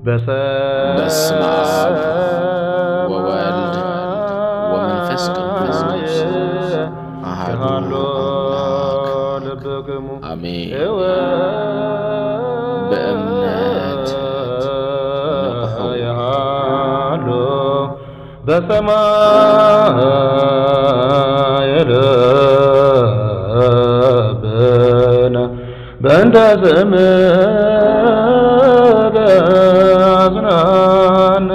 በስመ አብ ወወልድ ወመንፈስ ቅዱስ አሐዱ አምላክ አሜን። በእምነት ንቕሑ። በሰማይ ለብነ በእንተ ስምከ አጽናነ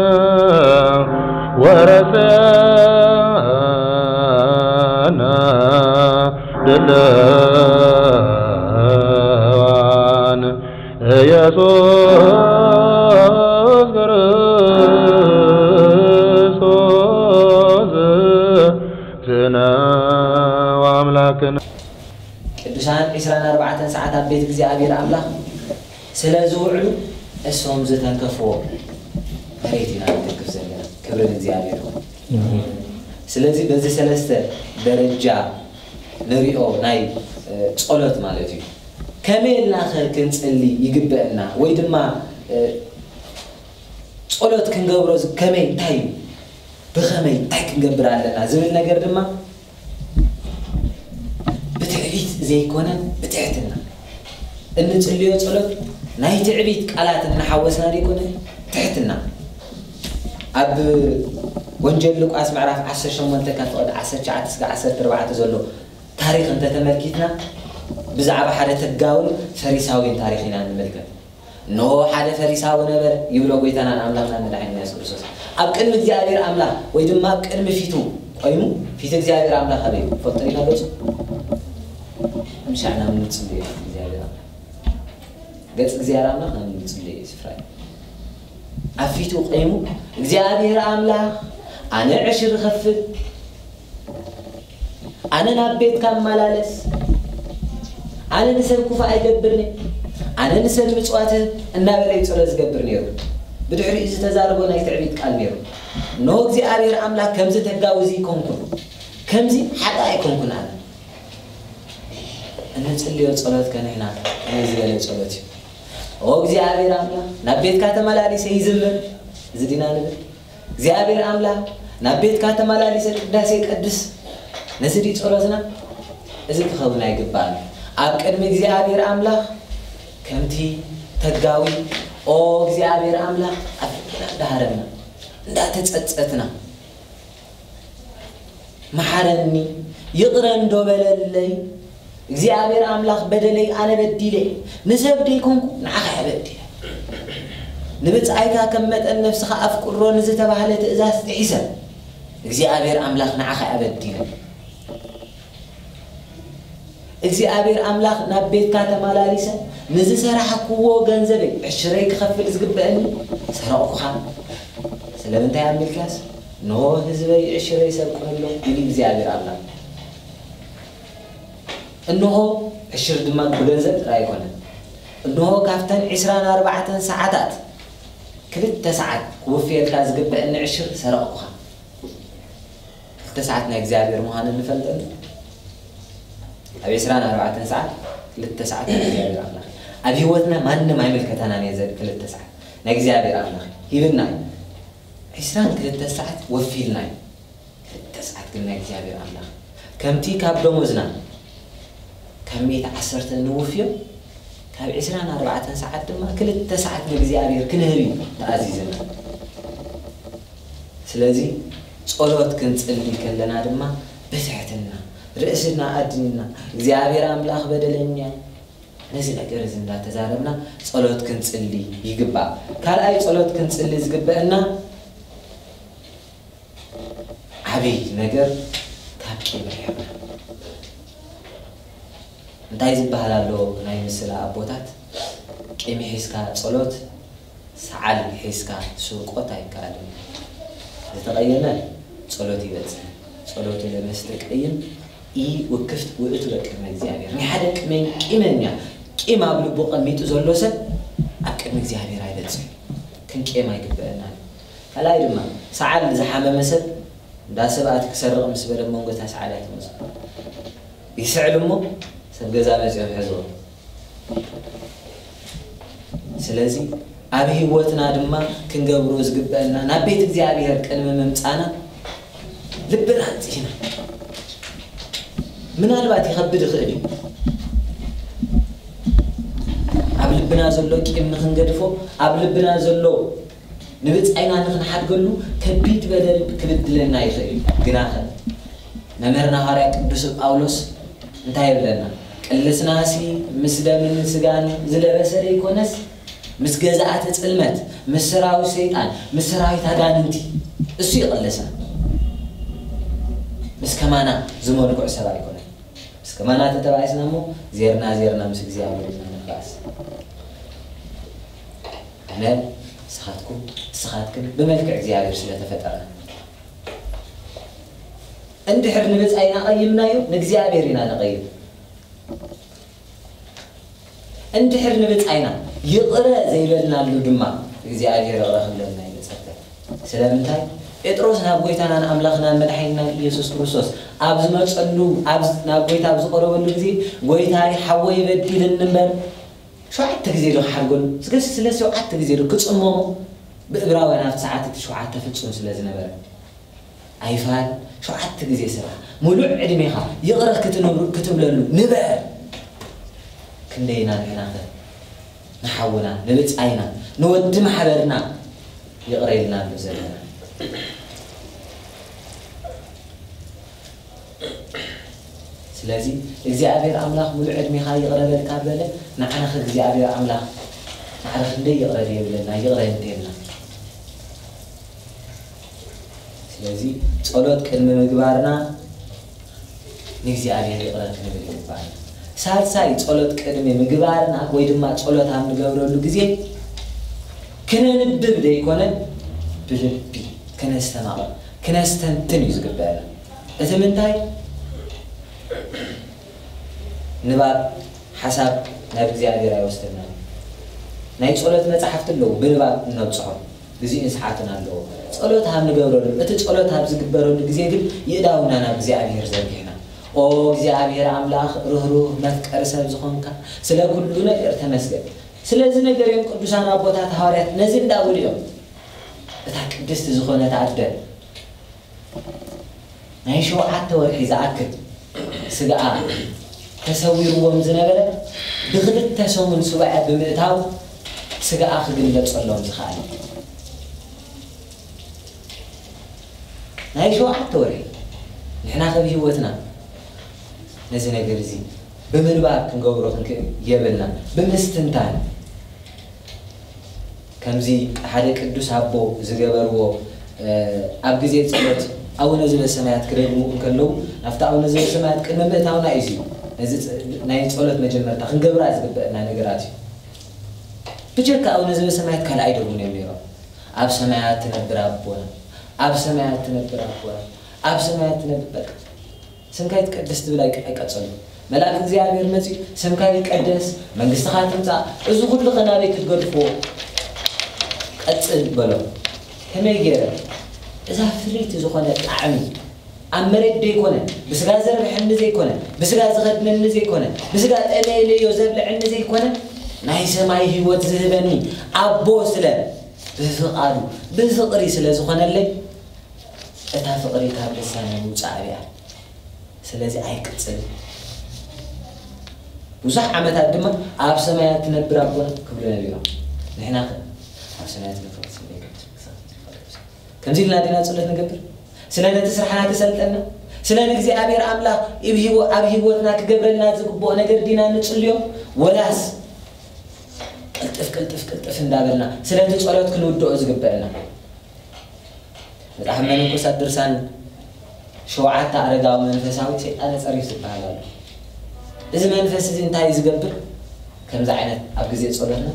ወረሰነ ድለዋን ኢየሱስ ክርስቶስ ዝነ ወአምላክነ። ቅዱሳን ዒስራን ኣርባዕተን ሰዓት ኣብ ቤት እግዚኣብሔር ኣምላኽ ስለ ዝውዕሉ እሶም ዝተንከፍዎ መሬት ኢና ንትንክፍ ዘለና። ክብሪ ንእግዚኣብሔር ይኹን። ስለዚ በዚ ሰለስተ ደረጃ ንሪኦ ናይ፣ እ፣ ጸሎት ማለት እዩ። ከመይ ኢልና ኸ ክንጽሊ ይግበአና? ወይ ድማ፣ እ፣ ጸሎት ክንገብሮ ዝ-፣ ከመይ፣ እንታይ እዩ? ብኸመይ፣ እንታይ ክንገብር ኣለና? ዝብል ነገር ድማ ብትዕቢት ዘይኮነ ብትሕትና። እንጽልዮ ጸሎት ናይ ትዕቢት ቃላት እናሓወስና ዘይኮነ ትሕትና። ኣብ ወንጌል ሉቃስ ምዕራፍ ዓሰርተ ሸሞንተ ካብ ፍቕዲ ዓሰርተ ትሽዓተ እስከ ዓሰርተ ኣርባዕተ ዘሎ ታሪኽ እንተተመልኪትና ብዛዕባ ሓደ ተጋውን ፈሪሳዊን ታሪኽ ኢና ንምልከት። እነሆ ሓደ ፈሪሳዊ ነበረ፣ ይብሎ ጎይታናን ኣምላኽናን መድሓኒና የሱስ ክርስቶስ። ኣብ ቅድሚ እግዚኣብሔር ኣምላኽ ወይ ድማ ኣብ ቅድሚ ፊቱ ቆይሙ፣ ፊት እግዚኣብሔር ኣምላኽ ኣበይ እዩ? ትፈልጡ ዲና ገጹ? ምሻዕ ናብ ንጽሊ እዩ ፊት እግዚኣብሔር ኣምላኽ። ገጽ እግዚኣብሔር ኣምላኽ ናብ ንጽሊ እዩ ስፍራ እዩ። ኣብ ፊቱ ቆይሙ፣ እግዚኣብሔር ኣምላኽ፣ ኣነ ዕሽር እኸፍል፣ ኣነ ናብ ቤትካ እመላለስ፣ ኣነ ንሰብ ክፉእ ኣይገብርን እየ፣ ኣነ ንሰብ ምጽዋት እህብ እናበለ እዩ ጸሎት ዝገብር ነይሩ። ብድሕሪኡ ዝተዛረቦ ናይ ትዕቢት ቃል ነይሩ። እንሆ እግዚኣብሔር ኣምላኽ ከምዚ ተጋዊ ዘይኮንኩን፣ ከምዚ ሓጣ ኣይኮንኩን ኣነ። እንጽልዮ ጸሎት ከንሕና ከመይ ዝበለ ጸሎት እዩ? ኦ እግዚኣብሔር ኣምላኽ ናብ ቤትካ ተመላሊሰ ይዝምር፣ እዚ ዲና ንብል? እግዚኣብሔር ኣምላኽ ናብ ቤትካ ተመላሊሰ ቅዳሴ ቀድስ፣ ነዚ ድዩ ጸሎትና? እዚ ክኸውን ኣይግባእን። ኣብ ቅድሚ እግዚኣብሔር ኣምላኽ ከምቲ ተጋዊ፣ ኦ እግዚኣብሔር ኣምላኽ፣ ኣብ ልብና እንዳሃረምና፣ እንዳተጸጸትና፣ መሓረኒ፣ ይቕረ እንዶ በለለይ፣ እግዚኣብሔር ኣምላኽ በደለይ ኣነ በዲለ፣ ንሰብ ደይኮንኩ ንዓኻ እየ በዲለ። ንብጻይካ ከም መጠን ነፍስኻ ኣፍቅሮ ንዝተባህለ ትእዛዝ ጥሒሰ፣ እግዚኣብሔር ኣምላኽ ንዓኻ እየ በዲለ። እግዚኣብሔር ኣምላኽ ናብ ቤትካ ተመላሊሰ ንዝሰራሕክዎ ገንዘበይ ዕሽረይ ክኸፍል ዝግበአኒ ሰረቕኩኻ። ስለምንታይ ኣብ ሚልክያስ፣ እንሆ ህዝበይ ዕሽረይ ይሰርቁኒ ኣለዉ፣ ኢሉ እግዚኣብሔር ኣምላኽ። እንሆ ዕሽር ድማ ብገንዘብ ጥራይ ኣይኮነን። እንሆ ካብተን ዒስራን ኣርባዕተን ሰዓታት ክልተ ሰዓት ክውፍየልካ ዝግበአኒ ዕሽር ሰረቕኩኻ። ክልተ ሰዓት ናይ እግዚኣብሔር ምዃኑ ንፈልጠሉ። ኣብ ዒስራን ኣርባዕተን ሰዓት ክልተ ሰዓት ናይ እግዚኣብሔር ኣምላኽ። ኣብ ህይወትና ማንም ኣይምልከተናን እየ ዘብል ክልተ ሰዓት ናይ እግዚኣብሔር ኣምላኽ ሂብና እዩ። ዒስራን ክልተ ሰዓት ወፊልና እዩ። ክልተ ሰዓት ግን ናይ እግዚኣብሔር ኣምላኽ ከምቲ ካብ ደሞዝና ካብ ሚእቲ ዓሰርተ ንውፍዮ፣ ካብ ዒስራን ኣርባዕተን ሰዓት ድማ ክልተ ሰዓት ንእግዚኣብሔር ክንህብ እዩ ተኣዚዝና። ስለዚ ጸሎት ክንጽሊ ከለና ድማ ብትሕትና ርእስና ኣድኒና፣ እግዚኣብሔር ኣምላኽ በደለኛ፣ ነዚ ነገር እዚ እንዳተዛረብና ጸሎት ክንጽሊ ይግባእ። ካልኣይ ጸሎት ክንጽሊ ዝግበአና ዓብይ ነገር ካብ ቂም ርሒቕና። እንታይ ዝበሃል ኣሎ ናይ ምስላ ኣቦታት፣ ቂም ሒዝካ ጸሎት፣ ሰዓል ሒዝካ ስርቆት ኣይከኣልን። ዝተቐየመ ጸሎት ይበጽሕ። ጸሎቱ ለመስተቀይም ኢ ውክፍት ውእቱ በቅድመ እግዚኣብሔር። ናይ ሓደ ቅመኝ-፣ ቂመኛ፣ ቂም ኣብ ልቡ ቀሚጡ ዘሎ ሰብ ኣብ ቅድሚ እግዚኣብሔር ኣይበጽሕን። ክንቅየም ኣይግበአናን። ካልኣይ ድማ፣ ሰዓል ዝሓመመ ሰብ እንዳ ሰብ ኣቲ ክሰርቕ ምስ በለ መንጎ እታ ሰዓል ኣይትመጽእ። ይስዕል እሞ ሰብ ገዛ መጺኦም ሕዝዎ። ስለዚ ኣብ ህይወትና ድማ ክንገብሮ ዝግበአና፣ ናብ ቤት እግዚኣብሔር ቅድሚ ምምጻና ልብና ኣንጺህና። ምናልባት ይኸብድ ይኽእል እዩ። ኣብ ልብና ዘሎ ቂም ንኽንገድፎ፣ ኣብ ልብና ዘሎ ንብጻይና ንኽንሓድገሉ ከቢድ በደል ክብድለና ይኽእል እዩ። ግናኸ መምህርና ሃዋርያ ቅዱስ ጳውሎስ እንታይ ይብለና? ቅልስናሲ ምስ ደምን ስጋን ዝለበሰ ደይኮነስ፣ ምስ ገዛእቲ ጽልመት፣ ምስ ሰራዊት ሰይጣን፣ ምስ ሰራዊት ኣጋንንቲ፣ እሱ ይቕልስና። ምስ ከማና ዝመልኩዕ ሰብ ኣይኮነን። ምስ ከማና ተተባኢስና እሞ፣ ዜርና ዜርና ምስ እግዚኣብሔር ኢና ንባእስ። ኣነ፣ ንስኻትኩም፣ ንስኻትክን ብመልክዕ እግዚኣብሔር ስለ ተፈጠርና። እንድሕር ንብጻይና ቀይምናዮ፣ ንእግዚኣብሔር ኢና ነቐይም። እንድሕር ንብጻይና ይቕረ ዘይበልናሉ ድማ፣ እግዚኣብሔር ይቕረ ክብለልና እዩ ዝጸበ። ስለምንታይ? ጴጥሮስ ናብ ጐይታናን ኣምላኽናን መድሓኒናን ኢየሱስ ክርስቶስ ኣብ ዝመጸሉ፣ ኣብ፣ ናብ ጐይታ ኣብ ዝቐረበሉ ግዜ፣ "ጐይታይ፣ ሓወይ በዲልኒ እምበር" ሸውዓተ ግዜ ዶ ክሓድገሉ? ስገሲ ስለ ሸውዓተ ግዜ ዶ ክጽመሞ? ብእብራውያን ኣብቲ ሰዓት እቲ ሸውዓተ ፍጹም ስለ ዝነበረ። ኣይፋል፣ ሸውዓተ ግዜ ስራሕ፣ ሙሉእ ዕድሜኻ ይቕረ ክትንብሩ-፣ ክትብለሉ ንበር። ክንደይና ንሕናኸ ንሓውና፣ ንብጻይና፣ ንወዲ ማሕበርና ይቕረ ኢልና ኣሎ ዘለና። ስለዚ እግዚኣብሔር ኣምላኽ ሙሉእ ዕድሜኻ ይቕረ በልካ በለ፣ ንዓናኸ እግዚኣብሔር ኣምላኽ ማዕረ ክንደይ ይቕረ ድዮ ይብለና? ይቕረ እንተልና። ስለዚ ጸሎት ቅድሚ ምግባርና ንእግዚኣብሔር ይቕረ ክንብል ይግባእ። ሳልሳይ፣ ጸሎት ቅድሚ ምግባርና ወይ ድማ ጸሎት ኣብ ንገብረሉ ግዜ ክነንብብ ዘይኮነ ብልቢ ክነስተማቕር፣ ክነስተንትን እዩ ዝግበአና። እቲ ምንታይ? ንባብ ሓሳብ ናብ እግዚኣብሔር ኣይወስደናን። ናይ ጸሎት መጻሕፍቲ ኣለዉ፣ ብንባብ እነብጽሖም ግዜኡን ሰዓትን ኣለዎ። ጸሎት ኣብ ንገብረሉ፣ እቲ ጸሎት ኣብ ዝግበረሉ ግዜ ግን የእዳውና ናብ እግዚኣብሔር ዘርጊሕና፣ "ኦ እግዚኣብሔር ኣምላኽ ርህሩህ መፍቀሪ ሰብ ዝኾንካ፣ ስለ ኩሉ ነገር ተመስገን።" ስለዚ ነገር እዮም ቅዱሳን ኣቦታት ሃዋርያት ነዚ እንዳበሉ እዮም። እታ ቅድስቲ ዝኾነት ኣደ ናይ ሸውዓተ ወርሒ ዝኣክል ስጋኣ ተሰዊርዎም ዝነበረ፣ ብክልተ ሰሙን ሱባኤ ብምእታው ስጋኣ ክግለጸሎም ዝኸኣለ። ናይ ሸውዓተ ወርሒ። ንሕና ከብ ህይወትና ነዚ ነገር እዚ ብምንባብ ክንገብሮ ክንክእል የብልና፣ ብምስትንታን። ከምዚ ሓደ ቅዱስ ኣቦ ዝገበርዎ፣ እ፣ ኣብ ግዜ ጸሎት ኣቡነ ዘበሰማያት ክደግሙ እንከለዉ፣ ናብቲ ኣቡነ ዘበሰማያት ቅድሚ ምእታውና እዩ እዚ፣ ነዚ ጸ-፣ ናይ ጸሎት መጀመርታ ክንገብራ ዝግበአና ነገራት እዩ። ብጀካ ኣቡነ ዘበሰማያት ካልእ ኣይደግሙን እዮም ነይሮም። "ኣብ ሰማያት ትነብር ኣቦና፣ ኣብ ሰማያት ትነብር ኣቦና፣ ኣብ ሰማያት ትነብር"፣ በቃ። "ስምካ ይትቀደስ" ትብል ኣይቀ-፣ ኣይቀጸሉ። መልኣክ እግዚኣብሔር መጺኡ፣ "ስምካ ይቀደስ፣ መንግስትኻ ትምጻእ፣ እዚ ኩሉ ከ ናበይ ክትገድፍዎ?" "ቀጽል" በሎ። ከመይ ገይረ? እዛ ፍርይቲ ዝኾነ ጣዕሚ ኣብ መሬት ዘይኮነ፣ ብስጋ ዘርብሐኒ ዘይኮነ፣ ብስጋ ዝኸድነኒ ዘይኮነ፣ ብስጋ ጠለየለዮ ዘብልዐኒ ዘይኮነ፣ ናይ ሰማይ ህይወት ዝህበኒ ኣቦ ስለ ብፍቓዱ፣ ብፍቕሪ ስለ ዝኾነለይ፣ እታ ፍቕሪ ካብ ልሳነይ ምውጻእ ኣብያ። ስለዚ ኣይቅጽልን። ብዙሕ ዓመታት ድማ "ኣብ ሰማያት ትነብር ኣቦና" ክብሉ ነቢሮም። ንሕና ከ ኣብ ሰማያት ንፈርስ ዘይገብር? ከምዚ ኢልና ዲና ጸሎት ንገብር? ስለ ነቲ ስራሕና ክሰልጠና? ስለ ንእግዚኣብሔር ኣምላኽ ኣብ ህይወ-፣ ኣብ ህይወትና ክገብረልና ዝግብኦ ነገር ዲና ንጽልዮ? ወላስ ቅልጥፍ፣ ቅልጥፍ፣ ቅልጥፍ እንዳበልና ስለቲ ጸሎት ክንውድኦ ዝግበአና? መጽሓፍ መነኮሳት ድርሳን ሸውዓተ ኣረጋዊ መንፈሳዊ ሰይጣነ ጸሪፍ ዝበሃል ኣሎ። እዚ መንፈስ እዚ እንታይ እዩ ዝገብር? ከምዚ ዓይነት ኣብ ግዜ ጸሎትና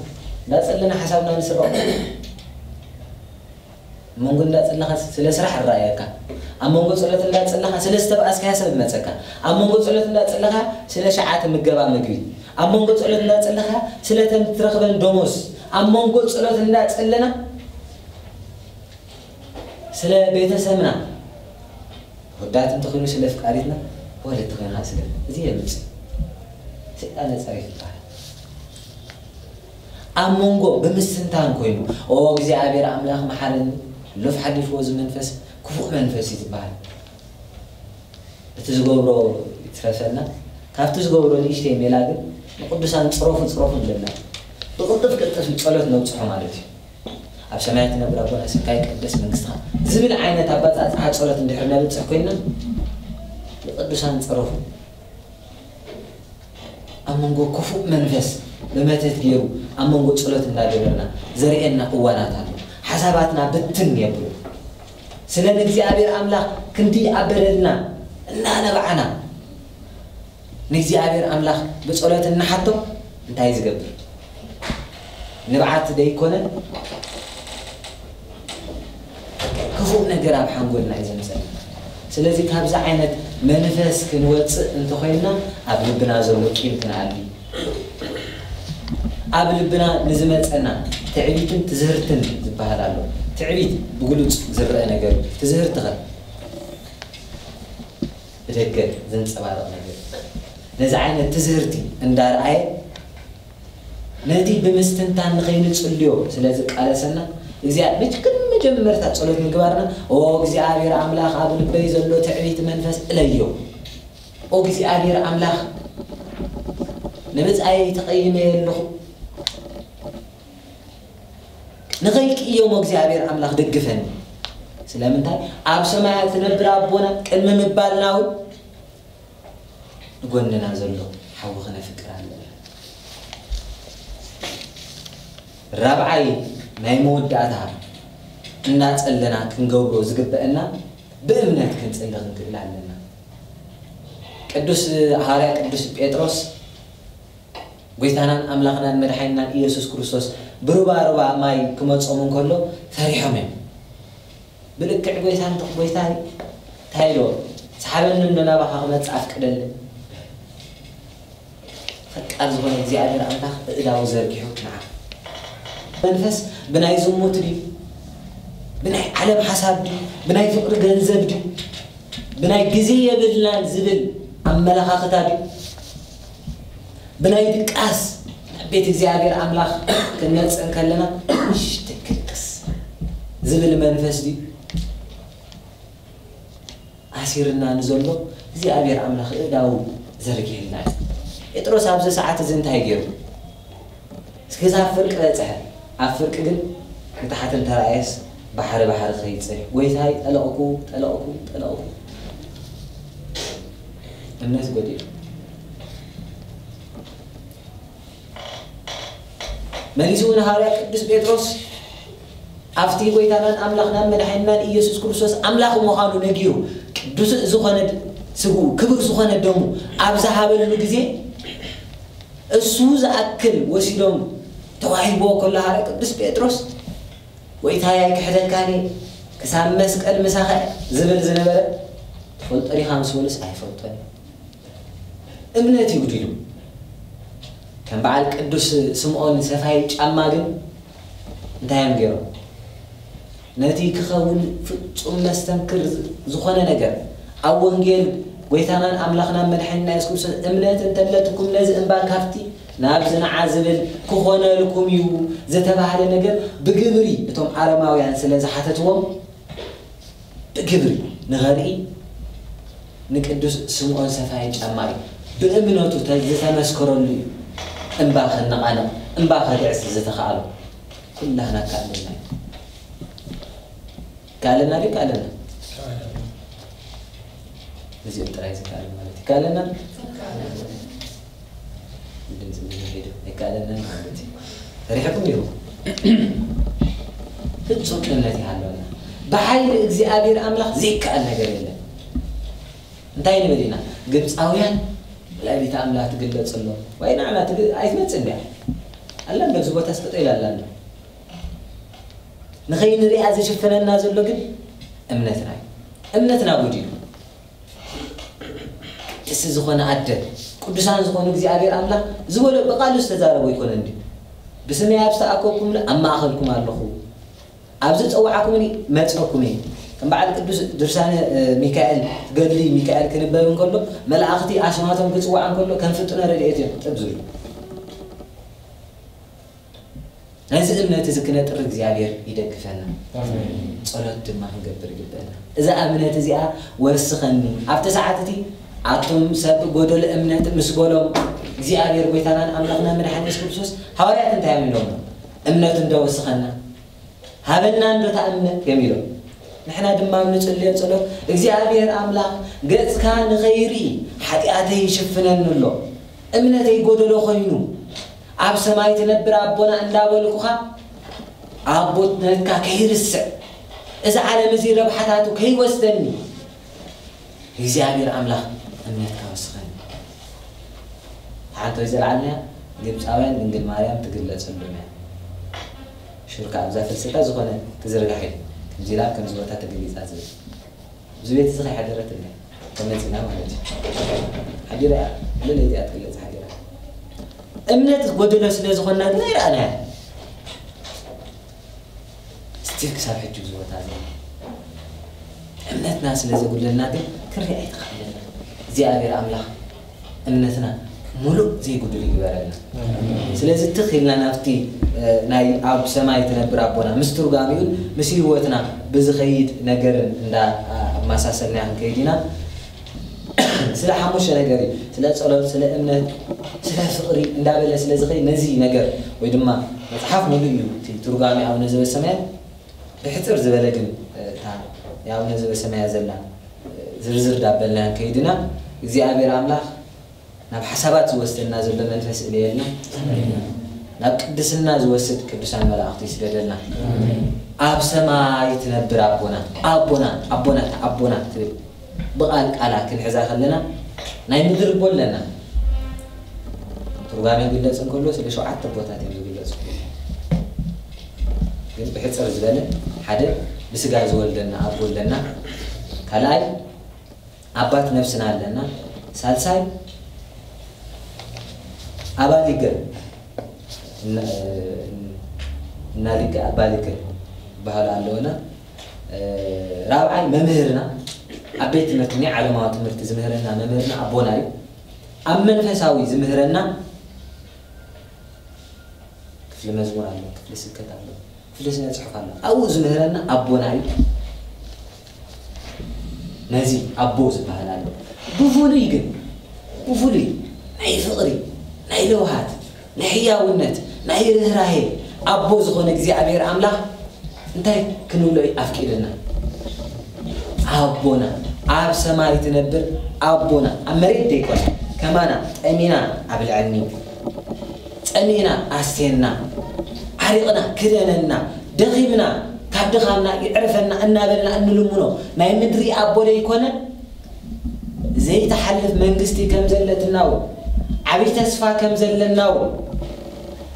እንዳጸለና ሓሳብና ንስረቕ። ኣብ መንጎ እንዳጸለኻ ስለ ስራሕ ይረኣየካ። ኣብ መንጎ ጸሎት እንዳጸለኻ ስለ ዝተባኣስካያ ሰብ ይመጸካ። ኣብ መንጎ ጸሎት እንዳጸለኻ ስለ ሸዓተ ምገባ ምግቢ። ኣብ መንጎ ጸሎት እንዳጸለኻ ስለ ተን ትረኽበን ደሞዝ። ኣብ መንጎ ጸሎት እንዳጸለና ስለ ቤተሰብና፣ ወዳት እንተኾይኑ ስለ ፍቃሪትና፣ ወለዲ ኮይንካ ስለ፣ እዚ የምጽእ። ሰይጣን ጸሪፍ ይበሃል። ኣብ መንጎ ብምስትንታን ኮይኑ፣ "ኦ እግዚኣብሔር ኣምላኽ መሓረኒ፣ ሎፍ ሓሊፍዎ እዚ መንፈስ፣ ክፉእ መንፈስ እዩ" ዝበሃል። እቲ ዝገብሮ ይትረፈና፣ ካብቲ ዝገብሮ ንእሽተይ ሜላ ግን ንቅዱሳን ጽረፉ፣ ጽረፉ ንብለና። ብቅልጥፍ ቅልጥፍ ጸሎት ነብጽሖ ማለት እዩ። "ኣብ ሰማያት ትነብር ኣቦና፣ ስምካ ይቀደስ፣ መንግስትኻ" ዝብል ዓይነት ኣባጻጽዓ ጸሎት እንድሕር ነብጽሕ ኮይና፣ ንቅዱሳን ጽረፉ። ኣብ መንጎ ክፉእ መንፈስ ብመተት ገይሩ ኣብ መንጎ ጸሎት እንዳገበርና ዘርእየና እዋናት ኣሎ። ሓሳባትና ብትን የብሉ። ስለ ንእግዚኣብሔር ኣምላኽ ክንዲ ኣብ በደልና እናነባዕና ንእግዚኣብሔር ኣምላኽ ብጸሎት እናሓቶ እንታይ ዝገብር? ንብዓት ደይኮነ ክፉእ ነገር ኣብ ሓንጎልና እዩ ዘምጸልና። ስለዚ ካብዚ ዓይነት መንፈስ ክንወጽእ እንተኾይንና ኣብ ልብና ዘሎ ቂም ክንኣሊ፣ ኣብ ልብና ንዝመጸና ትዕቢትን ትዝህርትን ዝበሃል ኣሎ። ትዕቢት ብግሉጽ ዝረአ ነገር እዩ። ትዝህርትኸ ብደገ ዘንጸባርቕ ነገር። ነዚ ዓይነት ትዝህርቲ እንዳርኣየ ነቲ ብምስትንታን ንኸይንጽልዮ ስለ ዝቃለሰና፣ እግዚኣብሔር መጀ-፣ ቅድሚ መጀመርታ ጸሎት ምግባርና፣ "ኦ እግዚኣብሔር ኣምላኽ፣ ኣብ ልበይ ዘሎ ትዕቢት መንፈስ እለዮ። ኦ እግዚኣብሔር ኣምላኽ፣ ንብጻየይ ተቐይመ ኣለኹ። ንኸይቅየሞ እግዚኣብሔር ኣምላኽ ደግፈኒ።" ስለምንታይ? ኣብ ሰማያት ትነብር ኣቦና ቅድሚ ምባልና እውን ንጎንና ዘሎ ሓዊ ክነፍቅር ኣለና። ራብዓይ ናይ መወዳእታ እናጸለና ክንገብሮ ዝግበአና ብእምነት ክንጽሊ ክንክእል ኣለና። ቅዱስ ሃዋርያ ቅዱስ ጴጥሮስ ጎይታናን ኣምላኽናን መድሓኒናን ኢየሱስ ክርስቶስ ብሩባ ሩባ ማይ ክመጾም እንከሎ ፈሪሖም እዮም። ብልክዕ ጎይታ እንተ-፣ ጎይታይ እንታይ ኢልዎ? "ሰሓበኒ እንዶ ናባኻ ክመጽእ ኣፍቅደለይ?" ፈቃር ዝኾነ እግዚኣብሔር ኣምላኽ ኣእዳዉ ዘርጊሑ ንዓ መንፈስ ብናይ ዝሙት ድዩ? ብናይ ዓለም ሓሳብ ድዩ? ብናይ ፍቕሪ ገንዘብ ድዩ? ብናይ ግዜ የብልናን ዝብል ኣመለኻኽታ ድዩ? ብናይ ድቃስ ናብ ቤት እግዚኣብሔር ኣምላኽ ክንመጽእ እንከለና፣ "እሽ፣ ትክልቅስ" ዝብል መንፈስ ድዩ ኣሲርና ንዘሎ እግዚኣብሔር ኣምላኽ እእዳዉ ዘርጊሕልና እዩ። ጴጥሮስ ኣብዚ ሰዓት እዚ እንታይ ገይሩ? እስከ ክሳብ ፍርቂ በጽሐ። ኣብ ፍርቂ ግን ንታሕቲ እንተረኣየስ ባሕሪ ባሕሪ ክኸይድ ጸኒሑ። "ጎይታይ፣ ጠለቕኩ፣ ጠለቕኩ፣ ጠለቕኩ።" እምነት ጎዲሉ። መሊሱ እውን ሃዋርያ ቅዱስ ጴጥሮስ ኣብቲ ጎይታናን ኣምላኽናን መድሓኒናን ኢየሱስ ክርስቶስ ኣምላኽ ምዃኑ ነጊሩ፣ ቅዱስ ዝኾነ ስግኡ፣ ክቡር ዝኾነ ደሙ ኣብ ዝሃበሉ ግዜ፣ እሱ ዝኣክል ወሲዶም ተዋሂብዎ ከሎ፣ ሃዋርያ ቅዱስ ጴጥሮስ፣ "ጎይታይ፣ ኣይክሕደካን እየ፣ ክሳብ መስቀል ምሳኻ እየ" ዝብል ዝነበረ፣ "ትፈልጦ ዲኻ?" ምስ በሉስ፣ "ኣይፈልጦን እየ።" እምነት ይጉዲሉ። ከም በዓል ቅዱስ ስምዖን ሰፋይ ጫማ ግን እንታይ እዮም ገይሮም? ነቲ ክኸውን ፍጹም መስተንክር ዝኾነ ነገር ኣብ ወንጌል ጎይታናን ኣምላኽናን መድሓኒና የሱስ ክርስቶስ እምነት እንተለትኩም ነዚ እምባ ካብቲ ናብዚ ንዓ ዝብል ክኾነልኩም እዩ ዝተባህለ ነገር ብግብሪ እቶም ኣረማውያን ስለ ዝሓተትዎም ብግብሪ ንኸርኢ ንቅዱስ ስምዖን ሰፋይ ጫማ እዩ። ብእምነቱ ተ-፣ ዝተመስከረሉ እዩ። እምባ ከነቓንቕ፣ እምባ ከግዕዝ ዝተኻእሎ። ኩላህና ከኣለና እዩ። ከኣለና ድዩ? ከኣለና? እዚኦም ጥራይ ዝከኣል ማለት እዩ። ከኣለና? ድምፂ ብዙሕ ሄዱ ኣይከኣለናን ማለት እዩ። ፈሪሕኩም ዲኹም? ፍጹም እምነት ይሃለወና። ብሓይሊ እግዚኣብሔር ኣምላኽ ዘይከኣል ነገር የለን። እንታይ ንብል ኢና? ግብፃውያን ወላዲተ ኣምላኽ ትግለጸሎም። ዋይ ንዓና ትግ-፣ ኣይትመጽእ እንድያ። ኣላ እንዶ ኣብዚ ቦታ ስጠጠ ኢላ ኣላ እንዶ። ንኸይንሪኣ ዝሽፍነና ዘሎ ግን እምነትና እዩ። እምነትና ጎዲሉ። ቅድስቲ ዝኾነ ኣደ፣ ቅዱሳን ዝኾኑ እግዚኣብሔር ኣምላኽ ዝበሎ ብቓሉ ዝተዛረቦ ኣይኮነን ድዩ? "ብስመይ ኣብ ዝተኣከብኩምሉ ኣብ ማእኸልኩም ኣለኹ፣ ኣብ ዝጸዋዕኩምኒ መጸኩም እየ።" ከም በዓል ቅዱስ ድርሳነ፣ እ፣ ሚካኤል፣ ገድሊ ሚካኤል ክንበብ እንከሎ፣ መላእኽቲ ኣስማቶም ክጽዋዕ እንከሎ ከም ፍጡነ ረድኤት እዮም ጥብ ዝብሉ። ነዚ እምነት እዚ ክነጥሪ እግዚኣብሔር ይደግፈና። ጸሎት ድማ ክንገብር ይግበአና። እዛ እምነት እዚኣ ወስኸኒ ኣብቲ ሰዓት እቲ ኣቱም ሰብ ጎደሎ እምነት ምስ በሎም እግዚኣብሔር ጎይታናን ኣምላኽና መድሓኒ የሱስ ክርስቶስ፣ ሃዋርያት እንታይ እዮም ኢሎም? እምነት እንዶ ወስኸና ሃበና እንዶ እታ እምነት እዮም ኢሎም። ንሕና ድማ ኣብ ንጽልዮ ጸሎት እግዚኣብሔር ኣምላኽ ገጽካ ንኸይርኢ ሓጢኣተይ ይሽፍነኒ ኣሎ፣ እምነተይ ጎደሎ ኮይኑ፣ ኣብ ሰማይ ትነብር ኣቦና እንዳበልኩኻ ኣቦትነትካ ከይርስዕ፣ እዚ ዓለም እዚ ረብሓታቱ ከይወስደኒ እግዚኣብሔር ኣምላኽ እምነትካ ወስኸኒ። ሓንቶይ ዘልዓልናያ ግብፃውያን ድንግል ማርያም ትግለጸሎም እያ። ሽርካ ኣብዛ ፍልሰታ ዝኾነ ትዝርጋሕ ኢሉ ከምዚ ኢላ ከምዚ ቦታ ተገሊጻ ዝብል እዚ ቤት እዚ ከይሓደረት እለ ተመፂና ማለት እዩ። ሓዲራ እያ። ለለይቲ እያ ትግለጽ ሓዲራ። እምነት ጎደሎ ስለ ዝኾንና ግን ኣይረኣናያ። ስቲል ክሳብ ሕጂ ኣብዚ ቦታ እዚ እምነትና ስለ ዘጉድለና ግን ክርኢ ኣይተኻእለና። እግዚኣብሔር ኣምላኽ እምነትና ሙሉእ ዘይጉድል ይግበረልና። ስለዚ ትኽ ኢልና ናብቲ ናይ ኣብ ሰማይ ትነብር ኣቦና ምስ ትርጓሚኡን ምስ ህይወትና ብዝኸይድ ነገርን እንዳ ኣመሳሰልና ክንከይድ ኢና። ስለ ሓሙሽተ ነገር እዩ። ስለ ጸሎት፣ ስለ እምነት፣ ስለ ፍቕሪ እንዳበለ ስለ ዝኸይድ ነዚ ነገር ወይ ድማ መጽሓፍ ሙሉእ እዩ እቲ ትርጓሜ ኣቡነ ዘበሰማያት። ብሕጽር ዝበለ ግን እታ ኣቡነ ዘበሰማያት ዘላ ዝርዝር ዳበልና ከይድና እግዚኣብሔር ኣምላኽ ናብ ሓሳባት ዝወስደና ዘሎ መንፈስ እልየልና። ናብ ቅድስና ዝወስድ ቅዱሳን መላእኽቲ ይስደደልና። ኣብ ሰማይ ትነብር ኣቦና፣ ኣቦና፣ ኣቦና፣ ኣቦና ትብል ብቓል ቃላ ክንሕዛ ከለና ናይ ምድሪ ኣቦ ኣለና። ትርጓሜ ይግለጽ እንከሎ ስለ ሸውዓተ ኣቦታት እዮም ዝግለጹ። ግን ብሕጽር ዝበለ ሓደ ብስጋ ዝወልደና ኣቦ ኣለና። ካልኣይ ኣባት ነፍስና ኣለና። ሳልሳይ ኣባሊገ እና- እናሊገ ኣባሊገ ይበሃሉ ኣለውና። ራብዓይ መምህርና ኣብ ቤት ትምህርቲ ናይ ዓለማዊ ትምህርቲ ዝምህረና መምህርና ኣቦና እዩ። ኣብ መንፈሳዊ ዝምህረና ክፍሊ መዝሙር ኣሎ፣ ክፍሊ ስብከት ኣሎ፣ ክፍሊ ስነ ጽሑፍ ኣሎ። ኣብኡ ዝምህረና ኣቦና እዩ። ነዚ ኣቦ ዝበሃል ኣሎ። ብፍሉይ ግን ብፍሉይ ናይ ፍቕሪ፣ ናይ ለውሃት፣ ናይ ሕያውነት፣ ናይ ርህራሄ ኣቦ ዝኾነ እግዚኣብሔር ኣምላኽ እንታይ ክንብሎ እዩ ኣፍቂድና? ኣቦና ኣብ ሰማይ ትነብር ኣቦና ኣብ መሬት ደይኮነ ከማና ጠሚና ኣብልዐኒ፣ ጸሚእና ኣስቴና፣ ዓሪቕና ክደነና፣ ደኺምና ካብ ድኻምና ይዕርፈና እናበልና እንልምኖ ናይ ምድሪ ኣቦ ደይኮነ ዘይተሓልፍ መንግስቲ ከም ዘለትና እውን ዓብዪ ተስፋ ከም ዘለና እውን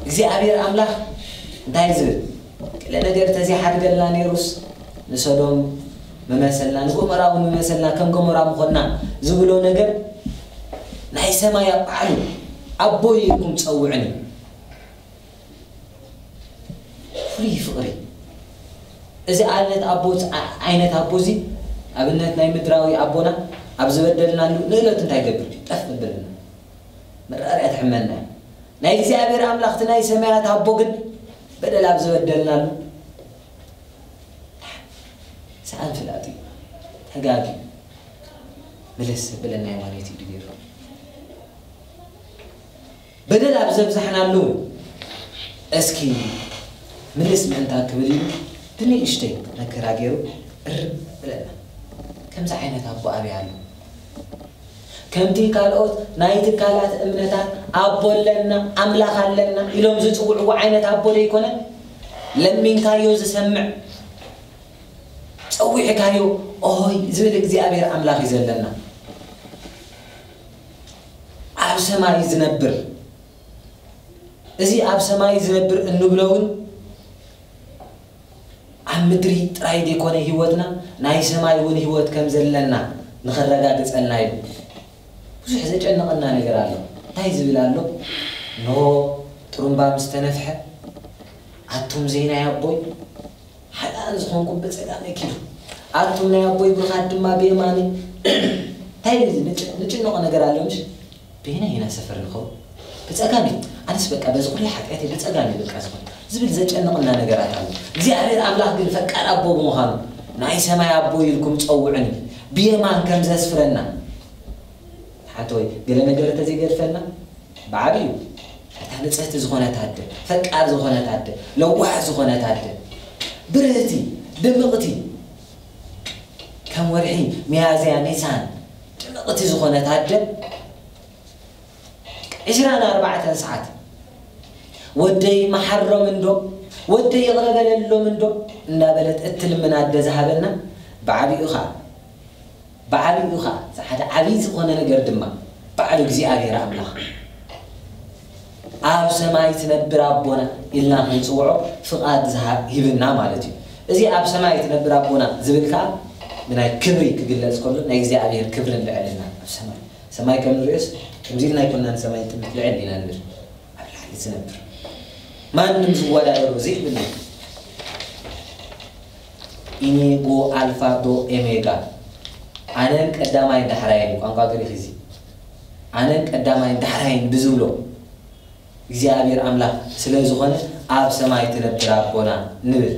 እግዚኣብሔር ኣምላኽ እንታይ ዝብል ገለ ነገር ተዘይሓድገልና ነይሩስ ንሰዶም ምመሰልና ንጎመራ እውን ምመሰልና ከም ጎመራ ምኾንና ዝብሎ ነገር ናይ ሰማይ ኣባዕሉ ኣቦይ ኢልኩም ጸውዕኒ። ፍሉይ ፍቕሪ እዚ ዓይነት ኣቦ ዓይነት ኣቦ እዚ ኣብነት ናይ ምድራዊ ኣቦና ኣብ ዝበደልናሉ ንእለት እንታይ ገብር ጠፍ ብልና መራርያ ትሕመና እዩ። ናይ እግዚኣብሔር ኣምላኽቲ ናይ ሰማያት ኣቦ ግን በደል ኣብ ዝበደልናሉ ሰኣን ፍላጥ እዩ። ተጋጊ ምልስ ብለና ማለት እዩ ድገሩ በደል ኣብ ዘብዛሕናሉ እስኪ ምልስ ምእንታ ክብል ኢሉ ብንእሽተይ መከራ ገይሩ እርም ብለና። ከምዚ ዓይነት ኣቦ ኣበይ ኣሎ? ከምቲ ካልኦት ናይ ትካላት እምነታት ኣቦ ኣለና ኣምላኽ ኣለና ኢሎም ዝፅውዕዎ ዓይነት ኣቦ ዘይኮነ ለሚንካዮ ዝሰምዕ ጸዊዕካዮ ኦሆይ ዝብል እግዚኣብሔር ኣምላኽ እዩ ዘለና። ኣብ ሰማይ ዝነብር እዚ ኣብ ሰማይ ዝነብር እንብሎ እውን ኣብ ምድሪ ጥራይ ዘይኮነ ህይወትና ናይ ሰማይ እውን ህይወት ከም ዘለና ንኸረጋግጸልና እዩ። ብዙሕ ዘጨንቐና ነገር ኣሎ። እንታይ ዝብል ኣሎ? እንሆ ጥሩምባ ምስ ተነፍሐ ኣቱም ዘይናይ ኣቦይ ሓጥኣን ዝኾንኩም ብጸጋመይ ኪዱ፣ ኣቱም ናይ ኣቦይ ብሩኻት ድማ ብየማነይ። እንታይ እዩ እዚ? ንጭ- ንጭነቖ ነገር ኣሎ ምሽ? በየናይ ኢና ሰፈር ንኸውን? ብጸጋመይ። ኣነስ በቃ በዚ ኩሉ ሓጢኣተይ ብጸጋመይ በቃ ዝኾን ዝብል ዘጨንቕና ነገራት ኣሎ። እግዚኣብሔር ኣምላኽ ግን ፈቃር ኣቦ ብምዃኑ ናይ ሰማይ ኣቦ ኢልኩም ጸውዑኒ፣ ብየማን ከም ዘስፍረና። ሓንቲ ወይ ገለ ነገር እንተዘይገድፈልና ብዓብዩ እታ ንጽህቲ ዝኾነት ኣደ፣ ፈቃር ዝኾነት ኣደ፣ ለዋህ ዝኾነት ኣደ፣ ብርህቲ፣ ድምቕቲ፣ ከም ወርሒ ሚያዝያ ኒሳን ድምቕቲ ዝኾነት ኣደ ዕስራን ኣርባዕተን ሰዓት ወደይ መሓሮም እንዶ፣ ወደይ ይቕረ በለሎም እንዶ እንዳበለት እትልምን ኣደ ዝሃበና ብዓቢኡ ኸዓ፣ ብዓቢኡ ኸዓ፣ እዚ ሓደ ዓብዪ ዝኾነ ነገር ድማ ባዕሉ እግዚኣብሔር ኣምላኽ ኣብ ሰማይ ትነብር ኣቦና ኢልና ክንጽውዖ ፍቓድ ዝሃብ ሂብና ማለት እዩ። እዚ ኣብ ሰማይ ትነብር ኣቦና ዝብል ከኣ ብናይ ክብሪ ክግለጽ ከሎ ናይ እግዚኣብሔር ክብርን ልዕልና ኣብ ሰማይ፣ ሰማይ ከም ንርእዮስ ከምዚ ኢልና ኣይኮንና ንሰማይ ንጥምት፣ ልዕል ኢና ንብል። ኣብ ላዕሊ ዝነብር ማንም ዝወዳደሮ ዘይብሉ ኢኔጎ ኣልፋ ዶ ኤሜጋ ኣነን ቀዳማይን ዳሕራይን እዩ ቋንቋ ግሪክ እዚ። ኣነን ቀዳማይን ዳሕራይን ብዝብሎ እግዚኣብሔር ኣምላኽ ስለ ዝኾነ ኣብ ሰማይ ትነብር ኣቦና ንብል።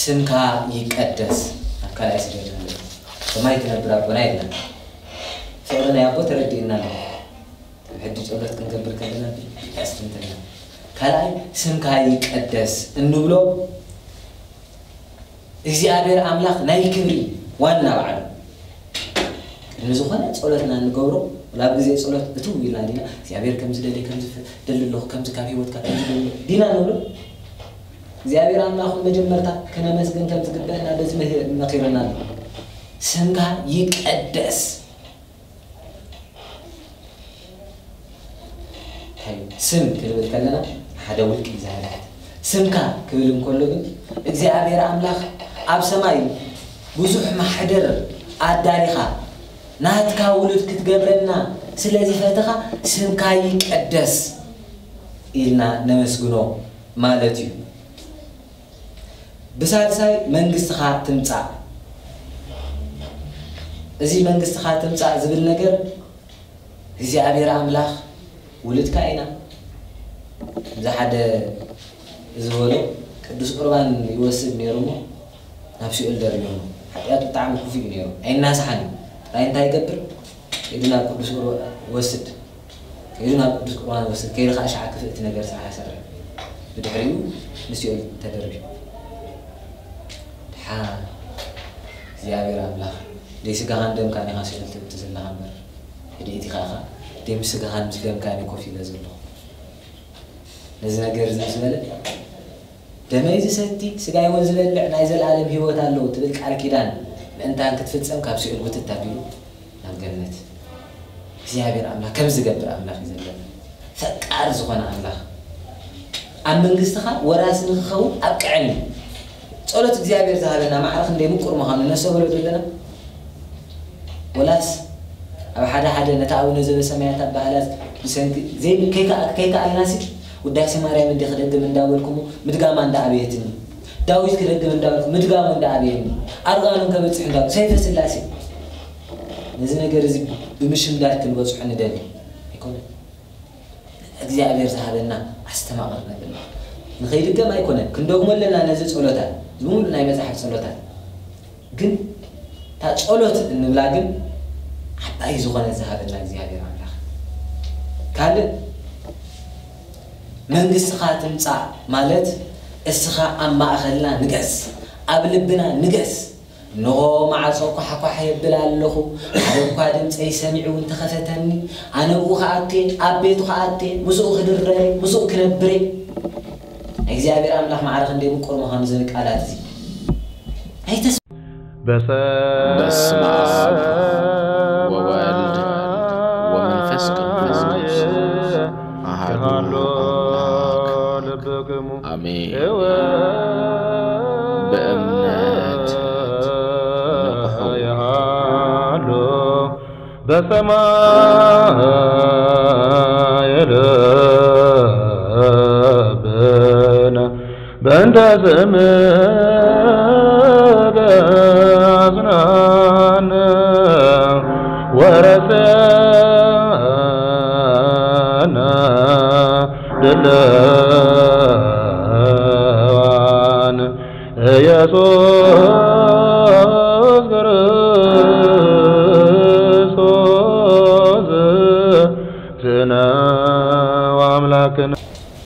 ስምካ ይቀደስ ኣብ ካልኣይ ስደት ንብል። ሰማይ ትነብር ኣቦና የለን። ፍቕሪ ናይ ኣቦ ተረዲእና ኣሎ። ሕጂ ጸሎት ክንገብር ከለና ብልቢ ኣስተንትና። ካልኣይ ስምካ ይቀደስ እንብሎ እግዚኣብሔር ኣምላኽ ናይ ክብሪ ዋና ባዕሉ ቅድሚ ዝኾነ ጸሎትና እንገብሮ፣ ወላ ኣብ ግዜ ጸሎት እትው ኢልና ዲና እግዚኣብሔር ከምዚ ደሊ፣ ከምዚ ፍ-፣ ደሊ ኣለኹ፣ ከምዚ ካብ ህይወትካ ከምዚ ደሊ ዲና ንብሎ? እግዚኣብሔር ኣምላኽ መጀመርታ ከነመስግን ከም ዝግበአና በዚ መህ-፣ መኺሩና ኣሎ። ስምካ ይቀደስ። እንታይ እዩ? ስም ክንብል ከለና ሓደ ውልቂ እዩ ዝሃልሕት። ስምካ ክብል እንከሎ ግን እግዚኣብሔር ኣምላኽ ኣብ ሰማይ ብዙሕ ማሕደር ኣዳሊኻ ናትካ ውሉድ ክትገብረና ስለ ዝፈተኻ ስምካ ይቀደስ ኢልና ነመስግኖ ማለት እዩ። ብሳልሳይ መንግስትኻ ትምጻእ። እዚ መንግስትኻ ትምጻእ ዝብል ነገር እግዚኣብሔር ኣምላኽ ውሉድካ ኢና። እዚ ሓደ ዝበሎ ቅዱስ ቁርባን ይወስድ ነይሩ እሞ ናብ ሲኦል ደርብዮሞ። ሓጢኣቱ ብጣዕሚ ክፉእ እዩ ነይሩ። ኣይናስሓን እዩ። ጥራይ እንታይ ይገብር? ከይዱ ናብ ቅዱስ ቁርባን ወስድ። ከይዱ ናብ ቅዱስ ቁርባን ወስድ። ከይዱ ከዓ ሸዓ ክፍእቲ ነገር ስራሕ ይሰርሕ። ብድሕሪኡ ንሲኦል ተደርብዩ። ድሓ እግዚኣብሔር ኣምላኽ ደይ ስጋኻን ደምካን ኢኻ ሲኦል ትእቱ ዘለኻ እምበር፣ ሕድኢት ኢኻ ኢኻ ደይ ምስ ስጋኻን ምስ ደምካን እዩ ኮፍ ኢለ ዘለኹ። ነዚ ነገር እዚ ምስ በለ፣ ደመይ ዝሰቲ ስጋይ እውን ዝበልዕ ናይ ዘለኣለም ህይወት ኣለዎ ትብል ቃል ኪዳን ምእንታን ክትፍጸም ካብ ሲኦል ውትት ኣቢሉ ናብ ገነት። እግዚኣብሔር ኣምላኽ ከም ዝገብር ኣምላኽ እዩ ዘለና። ፈቃር ዝኾነ ኣምላኽ ኣብ መንግስትኻ ወራሲ ንክኸውን ኣብቅዐኒ። ጸሎት እግዚኣብሔር ዝሃበና ማዕረ ክንደይ ምቁር ምዃኑ ነስተብህሎ ዶ ኣለና? ወላስ ኣብ ሓደ ሓደ ነታ ኣቡነ ዘበሰማያት ኣበሃህላ ብሰንኪ ዘይ-፣ ከይከኣ-፣ ከይከኣልናሲ ውዳሴ ማርያም እንዲ ክደግም እንዳበልኩሞ ምድጋማ እንዳኣበየትኒ፣ ዳዊት ክደግም እንዳበልኩ ምድጋሙ እንዳኣበየኒ፣ ኣርጋኖን ከበጽሕ እንዳበልኩ ሰይፈ ስላሴ ነዚ ነገር እዚ ብምሽምዳድ ክንበጽሖ ንደሊ ኣይኮነን። እግዚኣብሔር ዝሃበና ኣስተማቕር ነብልና። ንኸይድገም ኣይኮነን፣ ክንደግሞ ኣለና ነዚ ጸሎታት፣ እዚ ሙሉእ ናይ መጽሓፍ ጸሎታት። ግን እታ ጸሎት እንብላ ግን ዓባይ ዝኾነ ዝሃበና እግዚኣብሔር ኣምላኽ። ካልእ መንግስትኻ ትምጻእ ማለት እስኻ ኣብ ማእኸልና ንገስ፣ ኣብ ልብና ንገስ። እንሆ ማዕጾ ኳሕኳሕ የብል ኣለኹ፣ ሓደ እኳ ድምፀይ ሰሚዑ እውን ተኸፈተኒ። ኣነ ብኡ ክኣቱ እየ፣ ኣብ ቤቱ ክኣቱ እየ፣ ምስኡ ክድረር እየ፣ ምስኡ ክነብር እየ። እግዚኣብሔር ኣምላኽ ማዕረ ክንደይ ምቁር ምዃኑ ዝብል ቃላት እዚ ኣይተስ- በስመ አብ ወወልድ ወመንፈስ ቅዱስ አሐዱ አምላክ አሜን። በእምነት ንቕሑ። በሰማይ ልብነ በእንተ ስምከ አጽናነ ወረሰነ ለዋን ኢየሱስ ክርስቶስ ዝነ ወአምላክነ።